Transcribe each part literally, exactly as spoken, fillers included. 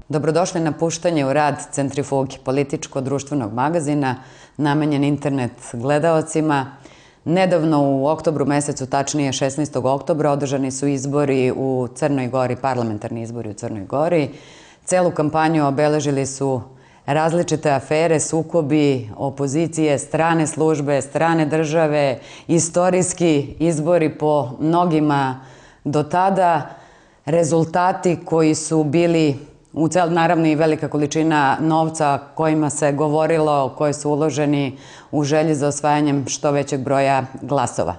Dobrodošli na puštanje u rad Centrifuge, političko-društvenog magazina namenjen internet gledaocima. Nedavno u oktobru mesecu, tačnije šesnaestog oktobra, održani su izbori u Crnoj Gori, parlamentarni izbori u Crnoj Gori. Celu kampanju obeležili su različite afere, sukobi, opozicije, strane službe, strane države, istorijski izbori po mnogima do tada, rezultati koji su bili u cel, naravno i velika količina novca kojima se govorilo, koji su uloženi u želji za osvajanjem što većeg broja glasova.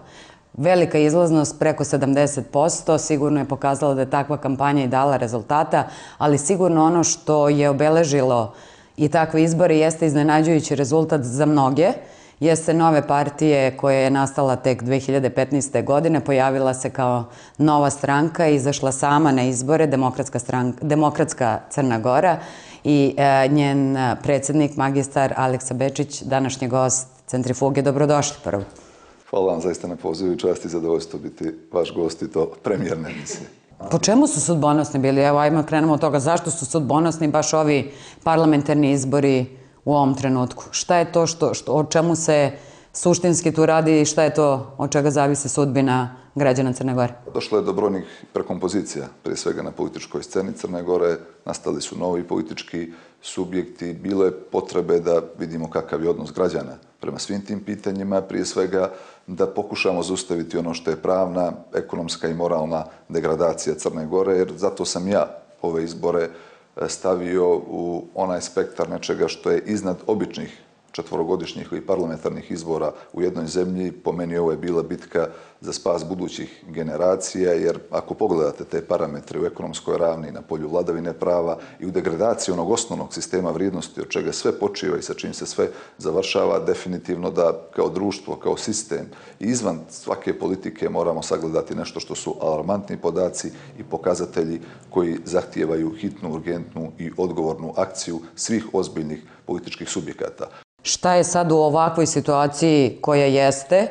Velika izlaznost, preko sedamdeset posto, sigurno je pokazalo da je takva kampanja i dala rezultata, ali sigurno ono što je obeležilo i takve izbore jeste iznenađujući rezultat za mnoge, jeste nove partije koja je nastala tek dve hiljade petnaeste. godine, pojavila se kao nova stranka i izašla sama na izbore, Demokratska, stranka, Demokratska Crna Gora, i e, njen predsjednik, magistar Aleksa Bečić, današnji gost Centrifuge. Dobrodošli prvo. Hvala vam zaista na pozivu i čast i zadovoljstvo biti vaš gost i to premijerne emisije. Po čemu su sudbonosni bili? Evo, ajmo krenemo od toga. Zašto su sudbonosni baš ovi parlamentarni izbori u ovom trenutku? Šta je to što, što, o čemu se suštinski tu radi i šta je to od čega zavisi sudbina građana Crne Gore? Došlo je do brojnih prekompozicija, prije svega na političkoj sceni Crne Gore. Nastali su novi politički subjekti. Bilo je potrebe da vidimo kakav je odnos građana prema svim tim pitanjima. Prije svega da pokušamo zaustaviti ono što je pravna, ekonomska i moralna degradacija Crne Gore, jer zato sam ja ove izbore stavio u onaj spektar nečega što je iznad običnih četvorogodišnjih i parlamentarnih izbora u jednoj zemlji. Po meni ovo je bila bitka za spas budućih generacija, jer ako pogledate te parametre u ekonomskoj ravni, na polju vladavine prava i u degradaciji onog osnovnog sistema vrijednosti od čega sve počiva i sa čim se sve završava, definitivno da kao društvo, kao sistem i izvan svake politike moramo sagledati nešto što su alarmantni podaci i pokazatelji koji zahtijevaju hitnu, urgentnu i odgovornu akciju svih ozbiljnih političkih subjekata. Šta je sad u ovakvoj situaciji koja jeste?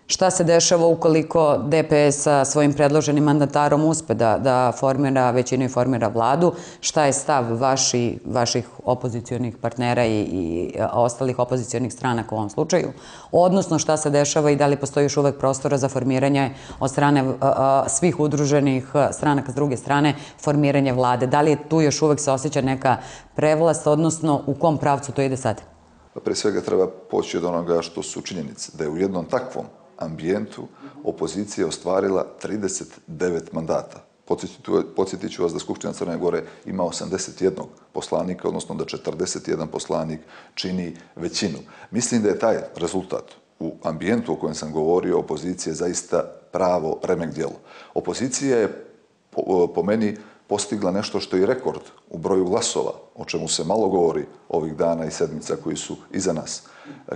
Šta se dešava ukoliko D P S sa svojim predloženim mandatarom uspe da, da formira većinu i formira vladu? Šta je stav vaši, vaših opozicionih partnera i, i ostalih opozicionih stranaka u ovom slučaju? Odnosno, šta se dešava i da li postoji još uvek prostora za formiranje od strane a, a, svih udruženih stranaka s druge strane, formiranje vlade? Da li je tu još uvek se osjeća neka prevlast, odnosno u kom pravcu to ide sad? Prije svega treba poći od onoga što su činjenice, da je u jednom takvom ambijentu opozicija ostvarila trideset devet mandata. Podsjetit ću vas da Skupština Crne Gore ima osamdeset jedan poslanika, odnosno da četrdeset jedan poslanik čini većinu. Mislim da je taj rezultat u ambijentu o kojem sam govorio opozicije zaista pravo remek djelo. Opozicija je po, po meni postigla nešto što je rekord u broju glasova, o čemu se malo govori ovih dana i sedmica koji su iza nas.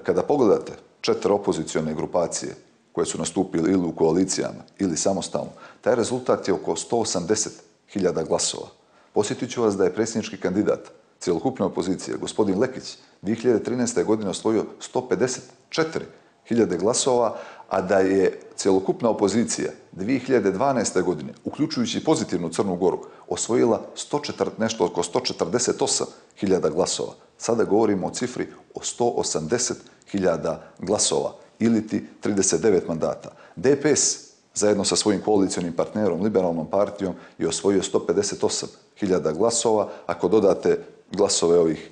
Kada pogledate četiri opozicione grupacije koje su nastupili ili u koalicijama ili samostalno, taj rezultat je oko sto osamdeset hiljada glasova. Posjetit ću vas da je predsjednički kandidat cjelokupne opozicije, gospodin Lekić, dvije hiljade trinaeste. godine osvojio sto pedeset četiri hiljade glasova, a da je cjelokupna opozicija dvije hiljade dvanaeste. godine, uključujući pozitivnu Crnu Goru, osvojila sto četrdeset, nešto oko sto četrdeset osam hiljada glasova. Sada govorimo o cifri o sto osamdeset hiljada glasova ili ti trideset devet mandata. D P S zajedno sa svojim koalicionim partnerom, Liberalnom partijom, je osvojio sto pedeset osam hiljada glasova. Ako dodate glasove ovih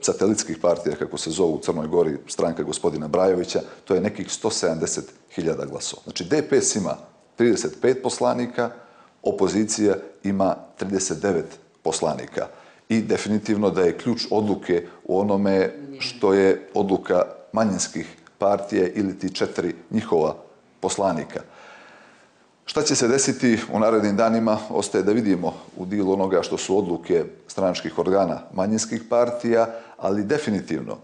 satelitskih partija, kako se zovu u Crnoj Gori, stranka gospodina Brajovića, to je nekih sto sedamdeset hiljada glasova. Znači, D P S ima trideset pet poslanika, opozicija ima trideset devet poslanika. I definitivno da je ključ odluke u onome što je odluka manjinskih partija ili ti četiri njihova poslanika. Šta će se desiti u narednim danima, ostaje da vidimo u dilu onoga što su odluke stranačkih organa manjinskih partija, ali definitivno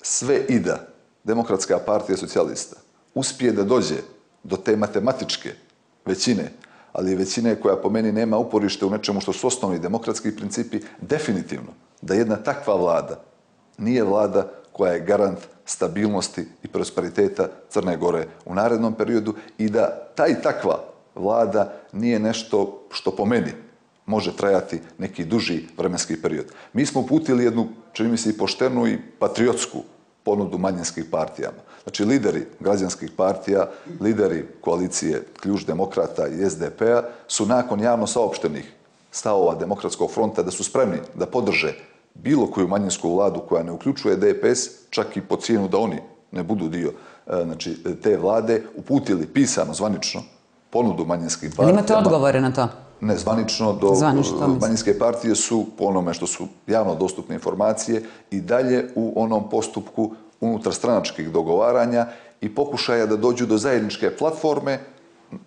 sve i da Demokratska partija socijalista uspije da dođe do te matematičke većine, ali većine koja po meni nema uporište u nečemu što su osnovni demokratski principi, definitivno da jedna takva vlada nije vlada koja je garant stabilnosti i prosperiteta Crne Gore u narednom periodu i da ta i takva vlada nije nešto što po meni može trajati neki duži vremenski period. Mi smo uputili jednu, čini mi se, i poštenu i patriotsku ponudu manjinskih partijama. Znači, lideri građanskih partija, lideri koalicije Ključ demokrata i S D P-a su nakon javno saopštenih stavova Demokratskog fronta da su spremni da podrže bilo koju manjinsku vladu koja ne uključuje D P S, čak i po cijenu da oni ne budu dio znači, te vlade, uputili pisano, zvanično, ponudu manjinskih partija. Imate odgovore na to? Ne, zvanično, do Zvanično, manjinske partije su, po onome što su javno dostupne informacije, i dalje u onom postupku unutar stranačkih dogovaranja i pokušaja da dođu do zajedničke platforme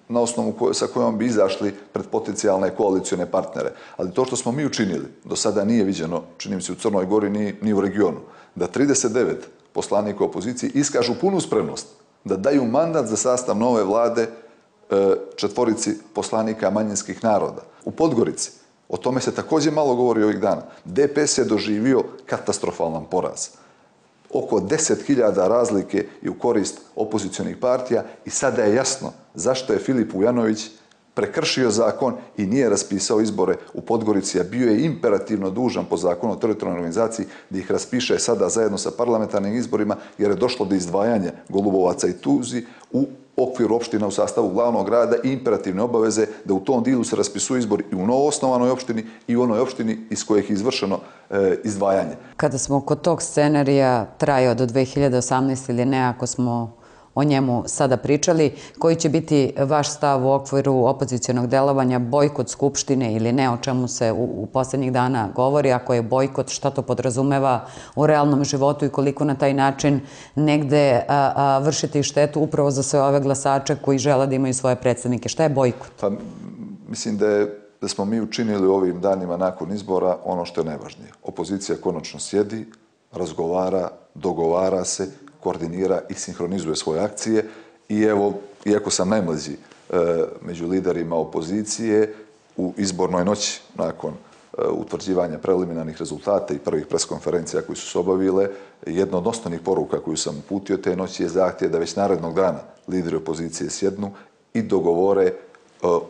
na osnovu koje, sa kojom bi izašli pred potencijalne koalicione partnere. Ali to što smo mi učinili, do sada nije viđeno, čini mi se, u Crnoj Gori ni, ni u regionu, da trideset devet poslanika opozicije iskažu punu spremnost da daju mandat za sastav nove vlade četvorici poslanika manjinskih naroda. U Podgorici, o tome se također malo govori ovih dana, D P S je doživio katastrofalan poraz. Oko deset hiljada razlike je u korist opozicionih partija i sada je jasno zašto je Filip Vujanović prekršio zakon i nije raspisao izbore u Podgorici, a bio je imperativno dužan po zakonu o teritorijalnoj organizaciji da ih raspiše sada zajedno sa parlamentarnim izborima, jer je došlo do izdvajanja Golubovaca i Tuzi u okviru opština u sastavu glavnog grada i imperativne obaveze da u tom dilu se raspisuju izbori i u novoosnovanoj opštini i u onoj opštini iz kojih je izvršeno e, izdvajanje. Kada smo kod tog scenarija trajao do dve hiljade osamnaeste ili ne, ako smo o njemu sada pričali, koji će biti vaš stav u okviru opozicionog delovanja, bojkot Skupštine ili ne, o čemu se u, u posljednjih dana govori, ako je bojkot, šta to podrazumeva u realnom životu i koliko na taj način negde a, a, vršiti štetu upravo za sve ove glasače koji žele da imaju svoje predstavnike. Šta je bojkot? Pa, mislim da, je, da smo mi učinili ovim danima nakon izbora ono što je najvažnije. Opozicija konačno sjedi, razgovara, dogovara se, koordinira i sinhronizuje svoje akcije i evo, iako sam najmlađi e, među liderima opozicije, u izbornoj noći nakon e, utvrđivanja preliminarnih rezultata i prvih preskonferencija koji su se obavile, jedna od osnovnih poruka koju sam uputio te noći je zahtjev da već narednog dana lideri opozicije sjednu i dogovore e,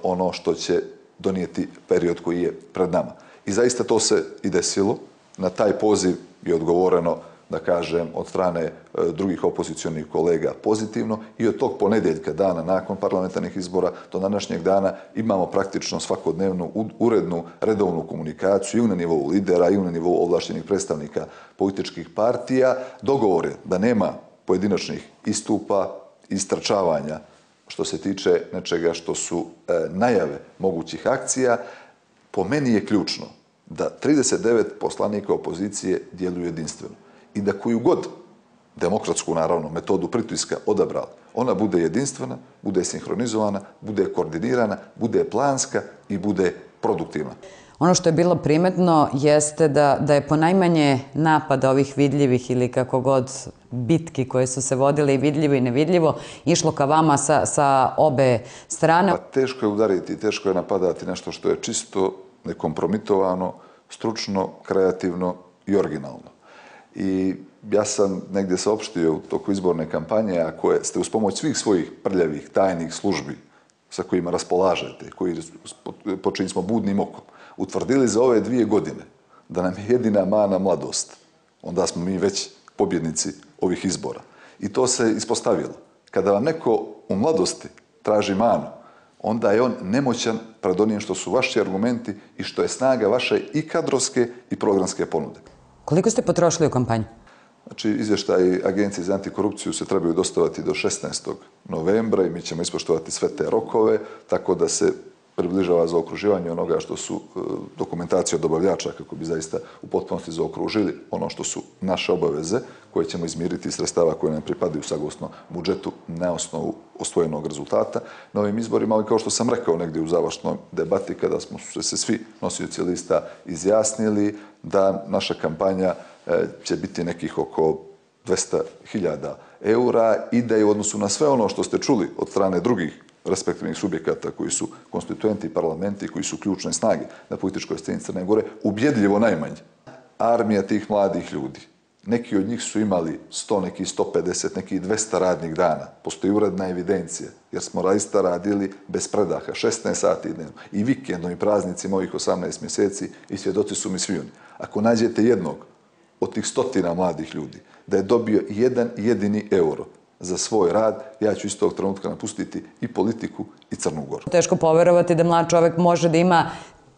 ono što će donijeti period koji je pred nama. I zaista to se i desilo. Na taj poziv je odgovoreno, da kažem, od strane e, drugih opozicionih kolega pozitivno i od tog ponedjeljka, dana nakon parlamentarnih izbora do današnjeg dana, imamo praktično svakodnevnu urednu, redovnu komunikaciju i na nivou lidera i na nivou ovlaštenih predstavnika političkih partija. Dogovor je da nema pojedinačnih istupa, istrčavanja što se tiče nečega što su e, najave mogućih akcija. Po meni je ključno da trideset devet poslanika opozicije djeluju jedinstveno i da koju god demokratsku, naravno, metodu pritiska odabrali, ona bude jedinstvena, bude sinhronizovana, bude koordinirana, bude planska i bude produktivna. Ono što je bilo primetno jeste da, da je ponajmanje napada ovih vidljivih ili kako god bitki koje su se vodile i vidljivo i nevidljivo išlo ka vama sa, sa obe strane. Pa teško je udariti, teško je napadati nešto što je čisto, nekompromitovano, stručno, kreativno i originalno. I ja sam negdje saopštio u toku izborne kampanje, ako ste uz pomoć svih svojih prljavih, tajnih službi sa kojima raspolažete, koji, po čijim smo budnim okom, utvrdili za ove dvije godine da nam je jedina mana mladost, onda smo mi već pobjednici ovih izbora. I to se ispostavilo. Kada vam neko u mladosti traži manu, onda je on nemoćan pred onim što su vaši argumenti i što je snaga vaše i kadrovske i programske ponude. Koliko ste potrošili u kampanju? Znači, izvještaji Agencije za antikorupciju se trebaju dostavati do šesnaestog novembra i mi ćemo ispoštovati sve te rokove, tako da se približava zaokruživanje onoga što su e, dokumentacije od dobavljača, kako bi zaista u potpunosti zaokružili ono što su naše obaveze, koje ćemo izmiriti iz sredstava koje nam pripadaju saglasno budžetu na osnovu ostvojenog rezultata na ovim izborima, ali kao što sam rekao negdje u završnoj debati, kada smo se svi nosioci lista izjasnili da naša kampanja e, će biti nekih oko dvesta hiljada eura i da je u odnosu na sve ono što ste čuli od strane drugih respektivnih subjekata koji su konstituenti parlamenti, koji su ključne snage na političkoj sceni Crne Gore, ubjedljivo najmanje. Armija tih mladih ljudi Neki od njih su imali sto, neki sto pedeset, neki dvesta radnih dana. Postoji uredna evidencija, jer smo zaista radili bez predaha, šesnaest sati dnevno. I vikendom i praznicima ovih osamnaest mjeseci i svjedoci su mi svi oni. Ako nađete jednog od tih stotina mladih ljudi da je dobio jedan jedini euro za svoj rad, ja ću iz tog trenutka napustiti i politiku i Crnu Goru. Teško poverovati da mlad čovek može da ima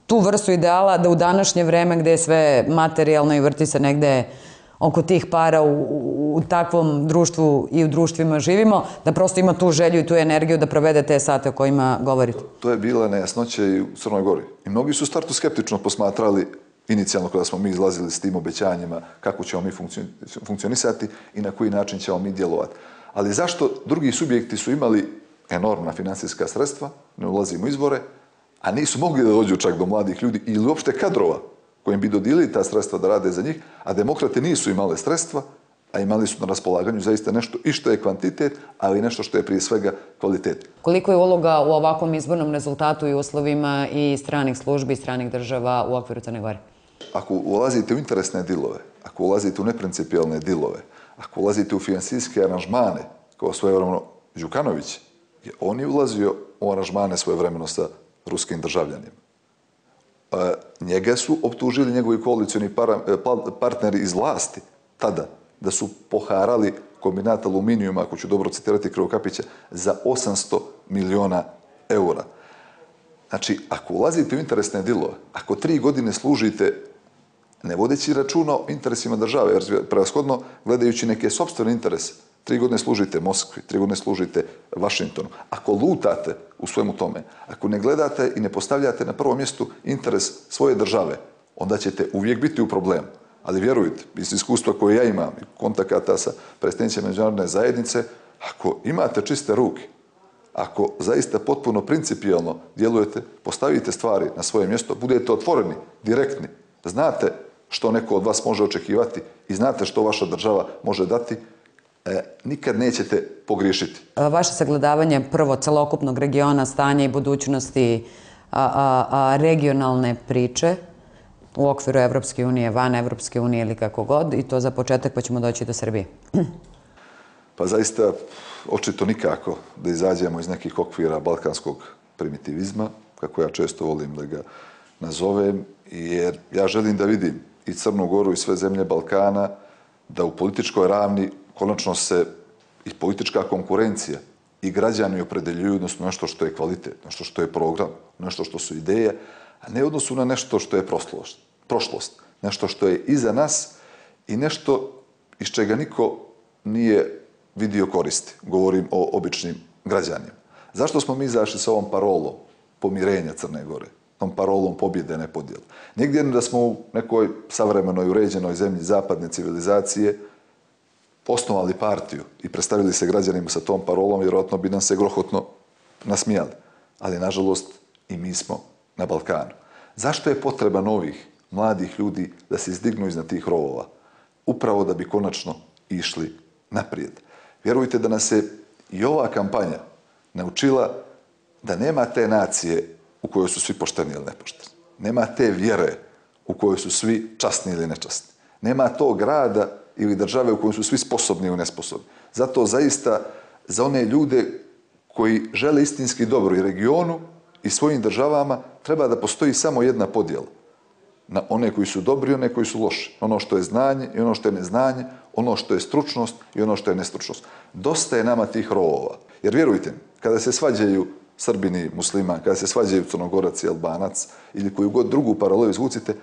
tu vrstu ideala da u današnje vreme gde je sve materijalno i vrti se negde oko tih para u, u takvom društvu i u društvima živimo, da prosto ima tu želju i tu energiju da provede te sate o kojima govorite. To je bila nejasnoća i u Crnoj Gori. I mnogi su u startu skeptično posmatrali inicijalno kada smo mi izlazili s tim obećanjima kako ćemo mi funkcionisati i na koji način ćemo mi djelovati. Ali zašto drugi subjekti su imali enormna finansijska sredstva, ne ulazimo u izvore, a nisu mogli da dođu čak do mladih ljudi ili uopšte kadrova kojim bi dodijelili ta sredstva da rade za njih, a demokrate nisu imale sredstva, a imali su na raspolaganju zaista nešto i što je kvantitet, ali nešto što je prije svega kvalitet. Koliko je uloga u ovakvom izbornom rezultatu i uslovima i stranih službi i stranih država u okviru Crne Gore? Ako ulazite u interesne dilove, ako ulazite u neprincipijalne dilove, ako ulazite u finansijske aranžmane, kao svojevremeno Đukanović, je on je ulazio u aranžmane svojevremeno sa ruskim državljanima. Njega su optužili njegovi koalicioni partneri iz vlasti tada da su poharali kombinat aluminijuma, ako ću dobro citirati Krivokapića, za osamsto miliona eura. Znači, ako ulazite u interesne dilove, ako tri godine služite ne vodeći računa o interesima države, jer prevashodno gledajući neke sopstvene interese, tri godine služite Moskvi, tri godine služite Vašingtonu. Ako lutate u svemu tome, ako ne gledate i ne postavljate na prvom mjestu interes svoje države, onda ćete uvijek biti u problemu. Ali vjerujte, iz iskustva koje ja imam, kontakata sa predstavnicima međunarodne zajednice, ako imate čiste ruke, ako zaista potpuno principijelno djelujete, postavite stvari na svoje mjesto, budete otvoreni, direktni, znate što neko od vas može očekivati i znate što vaša država može dati, E, nikad nećete pogriješiti. Vaše sagledavanje prvo celokupnog regiona, stanja i budućnosti a, a, a, regionalne priče u okviru Evropske unije, van Evropske unije ili kako god, i to za početak pa ćemo doći do Srbije. Pa zaista, očito nikako da izađemo iz nekih okvira balkanskog primitivizma, kako ja često volim da ga nazovem, jer ja želim da vidim i Crnu Goru i sve zemlje Balkana da u političkoj ravni konačno se i politička konkurencija i građani opredeljuju odnosno nešto što je kvalitet, nešto što je program, nešto što su ideje, a ne odnosu na nešto što je prošlost, nešto što je iza nas i nešto iz čega niko nije vidio koristi. Govorim o običnim građanima. Zašto smo mi izašli sa ovom parolom pomirenja Crne Gore, tom parolom pobjede, ne podjele? Negdje da smo u nekoj savremenoj uređenoj zemlji zapadne civilizacije osnovali partiju i predstavili se građanima sa tom parolom, vjerojatno bi nam se grohotno nasmijali. Ali, nažalost, i mi smo na Balkanu. Zašto je potreba novih, mladih ljudi da se izdignu iznad tih rovova? Upravo da bi konačno išli naprijed. Vjerujte da nas je i ova kampanja naučila da nema te nacije u kojoj su svi pošteni ili nepošteni. Nema te vjere u kojoj su svi časni ili nečasni. Nema tog grada ili države u kojoj su svi sposobni ili nesposobni. Zato zaista za one ljude koji žele istinski dobro i regionu i svojim državama treba da postoji samo jedna podjela. Na one koji su dobri i one koji su loši. Ono što je znanje i ono što je neznanje, ono što je stručnost i ono što je nestručnost. Dosta je nama tih rovova. Jer vjerujte mi, kada se svađaju Srbini i musliman, kada se svađaju Crnogorac i Albanac ili koju god drugu paralelu izvucite,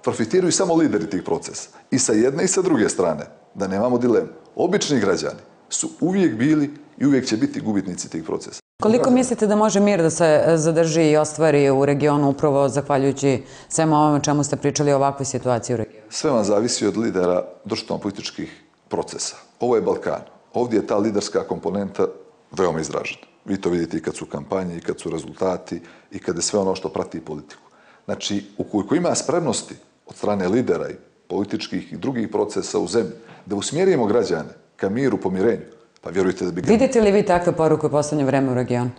profitiraju samo lideri tih procesa. I sa jedne i sa druge strane, da nemamo dilemu. Obični građani su uvijek bili i uvijek će biti gubitnici tih procesa. Koliko mislite da može mir da se zadrži i ostvari u regionu upravo zahvaljujući svema ovome čemu ste pričali o ovakvoj situaciji u regionu? Sve vam zavisi od lidera društveno-političkih procesa. Ovo je Balkan. Ovdje je ta liderska komponenta veoma izražena. Vi to vidite i kad su kampanje, i kad su rezultati, i kad je sve ono što prati politiku. Znači, ukoliko ima spremnosti od strane lidera i političkih i drugih procesa u zemlji, da usmjerimo građane ka miru, pomirenju, pa vjerujte da bi... Vidite li vi takve poruke u poslednje vreme u regionu?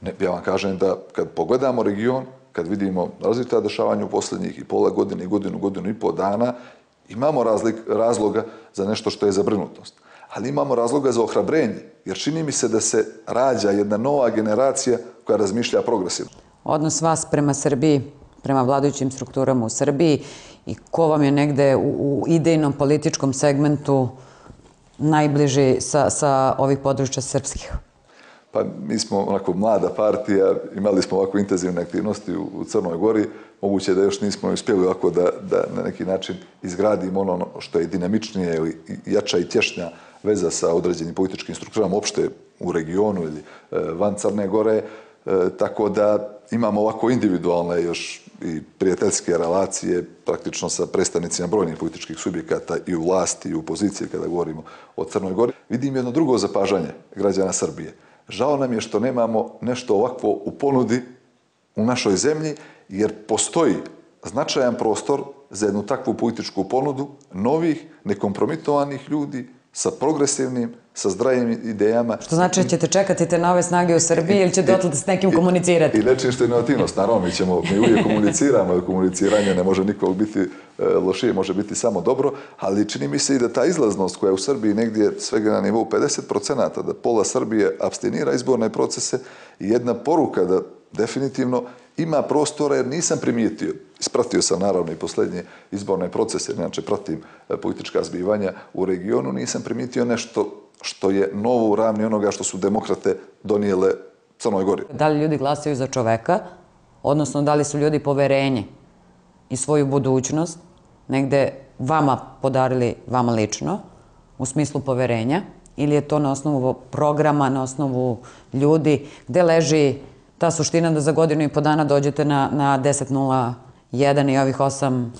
Ne, ja vam kažem da kad pogledamo region, kad vidimo različita dešavanja u posljednjih i pola godine i godinu, godinu i pol dana, Imamo razlik, razloga za nešto što je zabrinutost, ali imamo razloga za ohrabrenje, jer čini mi se da se rađa jedna nova generacija koja razmišlja progresivno. Odnos vas prema Srbiji, prema vladajućim strukturama u Srbiji i ko vam je negde u, u idejnom političkom segmentu najbliži sa, sa ovih područja srpskih? Pa mi smo onako mlada partija, imali smo ovako intenzivne aktivnosti u, u Crnoj Gori, moguće da još nismo uspjeli ovako da, da na neki način izgradimo ono što je dinamičnije ili jača i tješnja veza sa određenim političkim strukturama opšte u regionu ili e, van Crne Gore, e, tako da imamo ovako individualne još i prijateljske relacije praktično sa predstavnicima brojnih političkih subjekata i u vlasti i u opoziciji kada govorimo o Crnoj Gori. Vidim jedno drugo zapažanje građana Srbije. Žao nam je što nemamo nešto ovakvo u ponudi u našoj zemlji, jer postoji značajan prostor za jednu takvu političku ponudu novih, nekompromitovanih ljudi sa progresivnim, sa zdravim idejama. Što znači da ćete čekati te nove snage u Srbiji ili će dotle s nekim komunicirati? I nečim što je inovativnost. Naravno, mi ćemo, mi uvijek komuniciramo, jer komuniciranje ne može nikog biti lošije, može biti samo dobro, ali čini mi se i da ta izlaznost koja je u Srbiji negdje svega na nivou pedeset procenata, da pola Srbije abstinira izborne procese i jedna poruka da definitivno ima prostora, jer nisam primijetio, ispratio sam naravno i posljednje izborne procese, inače pratim politička zbivanja u regionu, nisam primijetio nešto što je novo u ravni onoga što su demokrate donijele Crnoj Gori. Da li ljudi glasaju za čoveka, odnosno da li su ljudi poverenje i svoju budućnost negde vama podarili, vama lično, u smislu poverenja, ili je to na osnovu programa, na osnovu ljudi, gde leži ta suština da za godinu i po dana dođete na, na deset nula jedan i ovih osam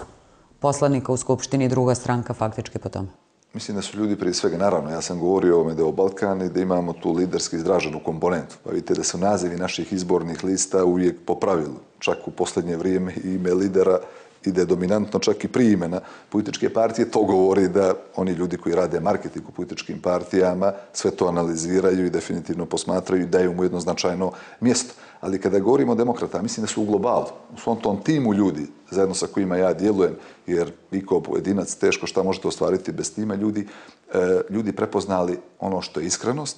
poslanika u Skupštini, druga stranka faktički po tome? Mislim da su ljudi prije svega, naravno, ja sam govorio o ovome da je o Balkan i da imamo tu liderski izraženu komponentu. Pa vidite da su nazivi naših izbornih lista uvijek po pravilu. Čak u posljednje vrijeme ime lidera ide dominantno čak i prije imena političke partije. To govori da oni ljudi koji rade marketing u političkim partijama sve to analiziraju i definitivno posmatraju i daju mu jedno značajno mjesto. Ali kada govorimo o demokrata, mislim da su u globalu, u svom tom timu ljudi, zajedno sa kojima ja djelujem, jer vi kao pojedinac teško šta možete ostvariti bez tima ljudi, e, ljudi prepoznali ono što je iskrenost,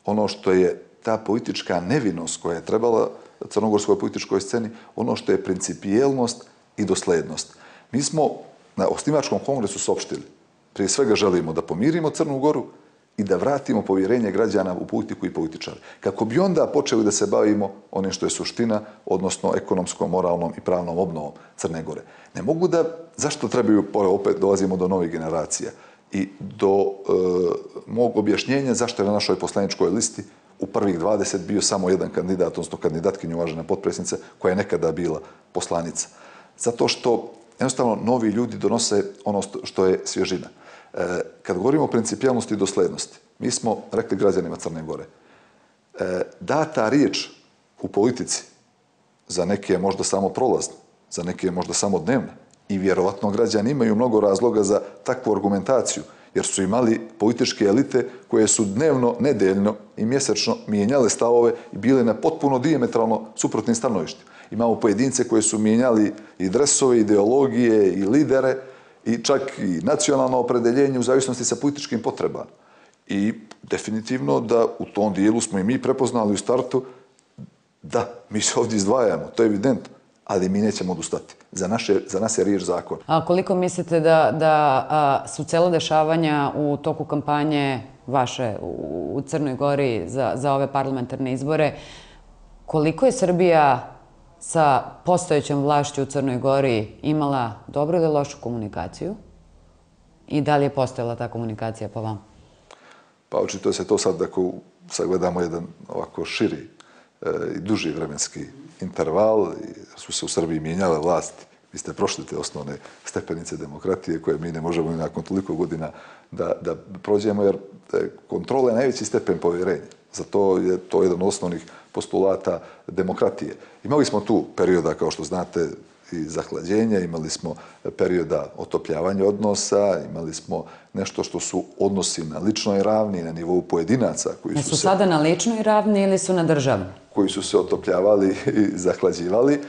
ono što je ta politička nevinost koja je trebala crnogorskoj političkoj sceni, ono što je principijelnost i doslednost. Mi smo na osnivačkom kongresu saopštili, prije svega želimo da pomirimo Crnu Goru i da vratimo povjerenje građana u politiku i političare. Kako bi onda počeli da se bavimo onim što je suština, odnosno ekonomskom, moralnom i pravnom obnovom Crne Gore. Ne mogu da, zašto trebaju, opet dolazimo do novih generacija i do e, mog objašnjenja zašto je na našoj poslaničkoj listi u prvih dvadeset bio samo jedan kandidat, odnosno kandidatkinja uvažena potpredsjednica, koja je nekada bila poslanica. Zato što jednostavno novi ljudi donose ono što je svježina. E, kad govorimo o principijalnosti i doslednosti, mi smo rekli građanima Crne Gore, e, data riječ u politici za neke je možda samo prolazna, za neke je možda samo dnevna i vjerovatno građani imaju mnogo razloga za takvu argumentaciju, jer su imali političke elite koje su dnevno, nedeljno i mjesečno mijenjale stavove i bile na potpuno dijametralno suprotnim stanovištima. Imamo pojedince koje su mijenjali i dresove, ideologije i lidere i čak i nacionalno opredeljenje u zavisnosti sa političkim potrebama. I definitivno da u tom dijelu smo i mi prepoznali u startu da mi se ovdje izdvajamo, to je evidentno, ali mi nećemo odustati. Za, naše, za nas je riječ zakon. A koliko mislite da, da a, su celo dešavanja u toku kampanje vaše u, u Crnoj Gori za, za ove parlamentarne izbore, koliko je Srbija sa postojećom vlašću u Crnoj Gori imala dobru ili lošu komunikaciju? I da li je postojala ta komunikacija po vama? Pa očito se to sad, ako sagledamo jedan ovako širi e, i duži vremenski interval, jer su se u Srbiji mijenjale vlasti. Vi ste prošli te osnovne stepenice demokratije koje mi ne možemo nakon toliko godina da, da prođemo, jer kontrola je najveći stepen povjerenja. Zato je to jedan od osnovnih postulata demokratije. Imali smo tu perioda, kao što znate, i zahlađenja, imali smo perioda otopljavanja odnosa, imali smo nešto što su odnosi na ličnoj ravni, na nivou pojedinaca. Koji ne su su se, sada na ličnoj ravni ili su na državnoj? Koji su se otopljavali i zahlađivali.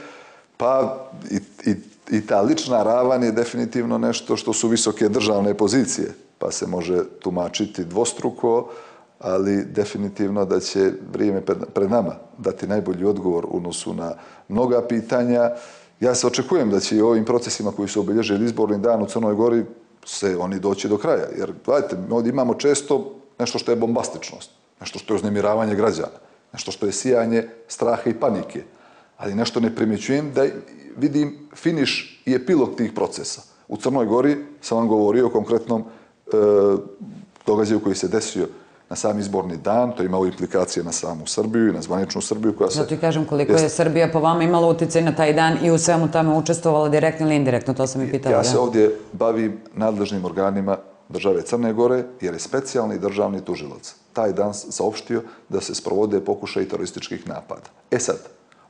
Pa i, i i ta lična ravan je definitivno nešto što su visoke državne pozicije, pa se može tumačiti dvostruko, ali definitivno da će vrijeme pred nama dati najbolji odgovor u odnosu na mnoga pitanja. Ja se očekujem da će i ovim procesima koji su obilježili izborni dan u Crnoj Gori se oni doći do kraja. Jer, gledajte, mi ovdje imamo često nešto što je bombastičnost, nešto što je uznemiravanje građana, nešto što je sijanje straha i panike, ali nešto ne primjećujem da vidim finiš i epilog tih procesa. U Crnoj Gori sam vam govorio o konkretnom e, događaju koji se desio na sam izborni dan, to je imalo implikacije na samu Srbiju i na zvaničnu Srbiju koja se... Zato i kažem koliko je Srbija po vama imala utjecaj na taj dan i u svemu tome učestvovala direktno ili indirektno, to sam i pitala. Ja se ovdje bavim nadležnim organima države Crne Gore jer je specijalni državni tužilac taj dan saopštio da se sprovode pokušaji terorističkih napada. E sad,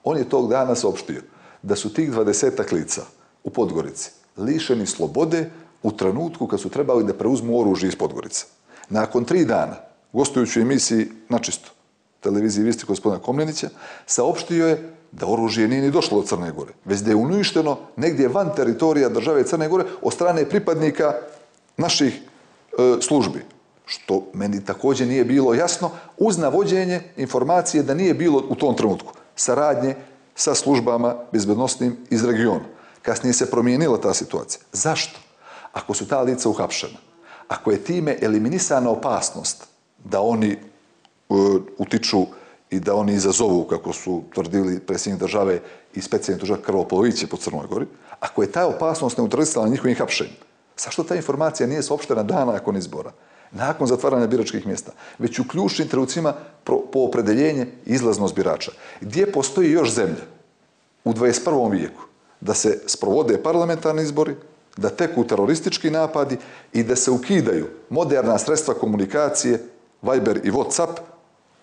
on je tog dana saopštio da su tih dvadesetak lica u Podgorici lišeni slobode u trenutku kad su trebali da preuzmu oružje iz Podgorice. Nakon tri dana, gostujući u emisiji Načisto, televiziji Visti gospodina Komlenića, saopštio je da oružje nije ni došlo od Crne Gore, već da je uništeno negdje van teritorija države Crne Gore od strane pripadnika naših e, službi, što meni također nije bilo jasno, uz navođenje informacije da nije bilo u tom trenutku saradnje sa službama bezbednosnim iz regiona. Kasnije se promijenila ta situacija. Zašto? Ako su ta lica uhapšena, ako je time eliminisana opasnost da oni uh, utiču i da oni izazovu, kako su tvrdili predsjednik države i specijalni tužilac krvoproliće po Crnoj Gori, ako je ta opasnost neutralisana njihovim hapšenjem, zašto ta informacija nije saopštena dana nakon izbora, nakon zatvaranja biračkih mjesta, već u ključnim trenucima po opredeljenje izlaznost birača? Gdje postoji još zemlja u dvadeset prvom vijeku da se sprovode parlamentarni izbori, da teku teroristički napadi i da se ukidaju moderna sredstva komunikacije, Viber i WhatsApp,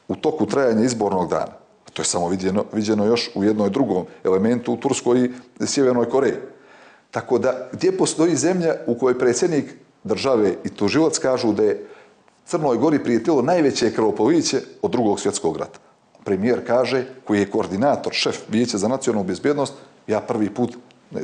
u toku trajanja izbornog dana? To je samo viđeno, viđeno još u jednom drugom elementu u Turskoj i Sjevernoj Koreji. Tako da, gdje postoji zemlja u kojoj predsjednik države i tužilac kažu da je Crnoj Gori prijetilo najveće krvoproliće od drugog svjetskog rata? Premijer kaže, koji je koordinator, šef Vijeća za nacionalnu bezbjednost, ja prvi put,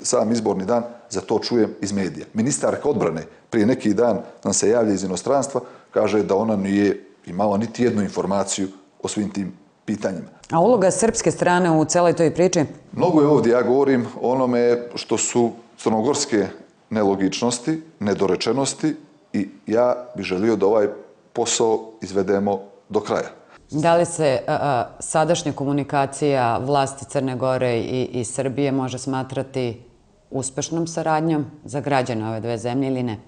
sam izborni dan, za to čujem iz medija. Ministarka odbrane prije neki dan nam se javlja iz inostranstva, kaže da ona nije imala niti jednu informaciju o svim tim pitanjima. A uloga srpske strane u celoj toj priči? Mnogo je ovdje, ja govorim o onome što su crnogorske nelogičnosti, nedorečenosti i ja bih želio da ovaj posao izvedemo do kraja. Da li se a, a, sadašnja komunikacija vlasti Crne Gore i, i Srbije može smatrati uspešnom saradnjom za građane ove dve zemlje ili ne?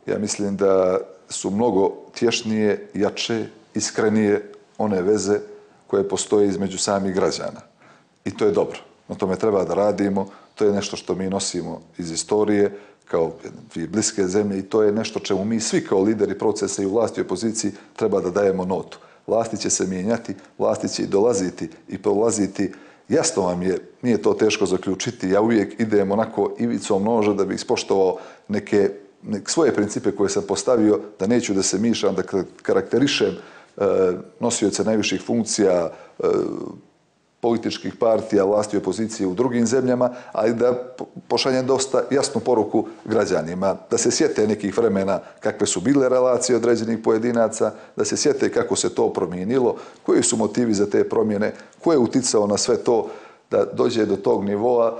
Ja mislim da su mnogo tješnije, jače, iskrenije one veze koje postoje između samih građana. I to je dobro. Na tome treba da radimo. To je nešto što mi nosimo iz istorije kao dvije bliske zemlje i to je nešto čemu mi svi kao lideri procesa i u vlasti i opoziciji treba da dajemo notu. Vlasti će se mijenjati, vlasti će i dolaziti i prolaziti. Jasno vam je, nije to teško zaključiti. Ja uvijek idem onako ivicom noža da bih ispoštovao neke, neke svoje principe koje sam postavio, da neću da se mišam, da karakterišem e, nosioce najviših funkcija e, političkih partija, vlasti i opozicije u drugim zemljama, ali da pošaljem dosta jasnu poruku građanima, da se sjete nekih vremena kakve su bile relacije određenih pojedinaca, da se sjete kako se to promijenilo, koji su motivi za te promjene, ko je uticao na sve to da dođe do tog nivoa,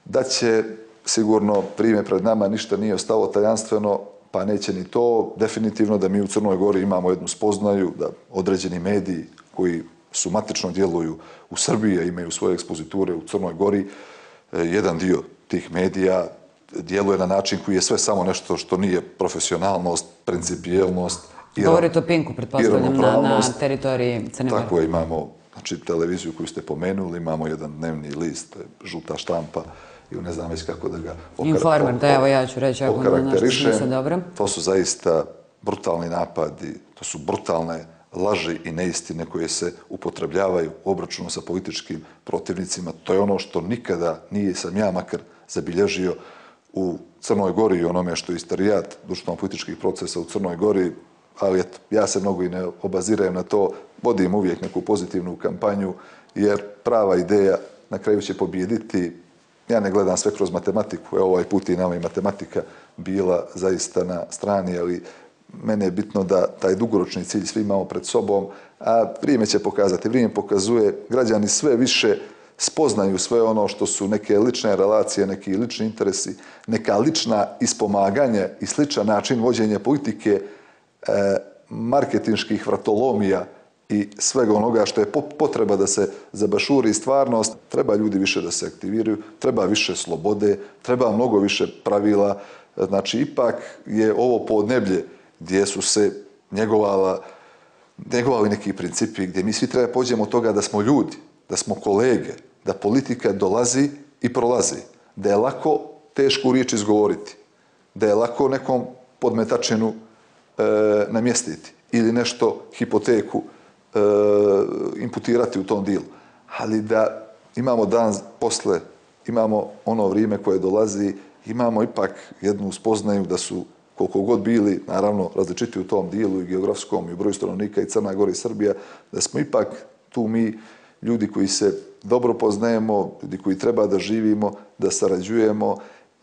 da će sigurno vrijeme pred nama ništa nije ostalo tajanstveno, pa neće ni to. Definitivno da mi u Crnoj Gori imamo jednu spoznaju, da određeni mediji koji su matično djeluju u Srbiji, a imaju svoje ekspoziture u Crnoj Gori, jedan dio tih medija djeluje na način koji je sve samo nešto što nije profesionalnost, principijelnost. Govorite o Pinku, pretpostavljam, na, na teritoriji Crne Gore. Tako je, imamo znači, televiziju koju ste pomenuli, imamo jedan dnevni list, žuta štampa, i ne znam već kako da ga Informer, da evo ja ću reći ako na nešto smisla dobro. To su zaista brutalni napadi, to su brutalne laži i neistine koje se upotrebljavaju u obračunu sa političkim protivnicima. To je ono što nikada nije, sam ja makar zabilježio u Crnoj Gori i onome što je istorijat društveno-političkih procesa u Crnoj Gori, ali eto, ja se mnogo i ne obazirem na to, vodim uvijek neku pozitivnu kampanju, jer prava ideja na kraju će pobijediti ja ne gledam sve kroz matematiku, evo ovaj put i nama i matematika bila zaista na strani, ali mene je bitno da taj dugoročni cilj svi imamo pred sobom, a vrijeme će pokazati, vrijeme pokazuje, građani sve više spoznaju sve ono što su neke lične relacije, neki lični interesi, neka lična ispomaganja i sličan način vođenja politike, e, marketinških vratolomija i svega onoga što je potreba da se zabašuri stvarnost. Treba ljudi više da se aktiviraju, treba više slobode, treba mnogo više pravila. Znači, ipak je ovo podneblje gdje su se njegovala, njegovali neki principi, gdje mi svi treba pođemo od toga da smo ljudi, da smo kolege, da politika dolazi i prolazi, da je lako tešku riječ izgovoriti, da je lako nekom podmetačinu e, namjestiti ili nešto, hipoteku, e, imputirati u tom dilu. Ali da imamo dan posle, imamo ono vrijeme koje dolazi, imamo ipak jednu spoznaju da su koliko god bili, naravno, različiti u tom dijelu i geografskom i u broju stanovnika i Crna Gora i Srbija, da smo ipak tu mi ljudi koji se dobro poznajemo, ljudi koji treba da živimo, da sarađujemo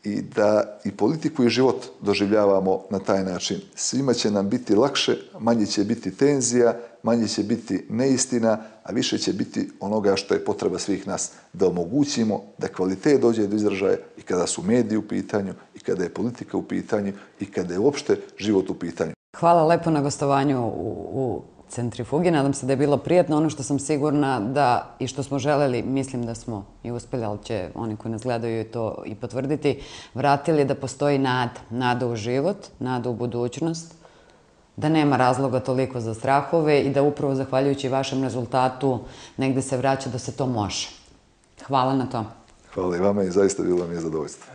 i da i politiku i život doživljavamo na taj način. Svima će nam biti lakše, manje će biti tenzija, manje će biti neistina, a više će biti onoga što je potreba svih nas, da omogućimo da kvalitet dođe do izražaja i kada su mediji u pitanju, i kada je politika u pitanju, i kada je uopšte život u pitanju. Hvala lepo na gostovanju u, u Centrifugi. Nadam se da je bilo prijatno. Ono što sam sigurna da i što smo želeli, mislim da smo i uspjeli, ali će oni koji nas gledaju to i potvrditi, vratili da postoji nada. Nada u život, nada u budućnost, da nema razloga toliko za strahove i da upravo zahvaljujući vašem rezultatu negde se vraća da se to može. Hvala na to. Hvala i vama i zaista bilo mi je zadovoljstvo.